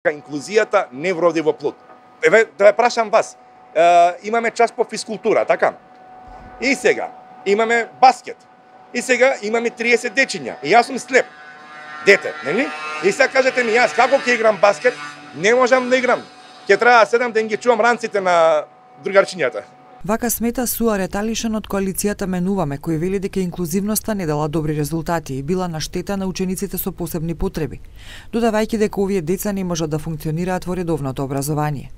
Инклузијата не вроди во плод. Еве, да ја прашам вас. Имаме час по физкултура, така? И сега имаме баскет. И сега имаме 30 дечиња. И јас сум слеп. Дете, нели? И сега кажете ми, јас како ќе играм баскет? Не можам да играм. Ќе треба да седам да ги чувам ранците на другарчињата. Вака смета Суаре Талишан од коалицијата Менуваме, кој вели дека инклузивноста не дала добри резултати и била на штета на учениците со посебни потреби, додавајќи дека овие деца не можат да функционираат во редовното образование.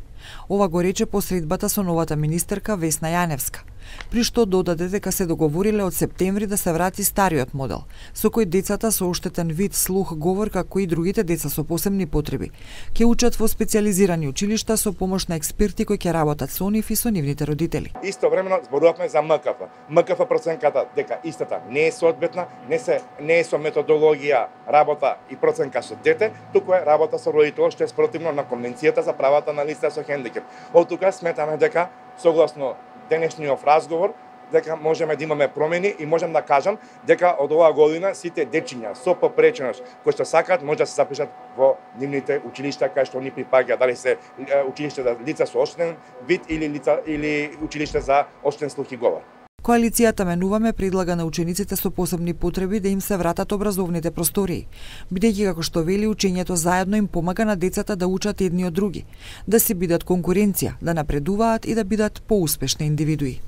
Ова го рече по средбата со новата министерка Весна Јаневска, при што додаде дека се договориле од септември да се врати стариот модел, со кој децата со оштетен вид слух говор, како и другите деца со посебни потреби, ќе учат во специјализирани училишта со помош на експерти кои ќе работат со нив и со нивните родители. Истовремено зборувавме за МКФ. МКФ проценката дека истата не е соодветна, не е со методологија работа и проценка со дете, туку е работа со родител, што е спротивно на Конвенцијата за правата на лица со хендикеп. Од тука сметаме дека согласно денешниот разговор дека можеме да имаме промени и можам да кажам дека од оваа година сите дечиња со попреченост кои што сакаат може да се запишат во нивните училишта кај што они припаѓаат, дали се училиште за лица со оштетен вид или училиште за оштетен слух и говор. Коалицијата Менуваме предлага на учениците со посебни потреби да им се вратат образовните простории, бидејќи како што вели учењето заедно им помага на децата да учат едни од други, да си бидат конкуренција, да напредуваат и да бидат поуспешни индивидуи.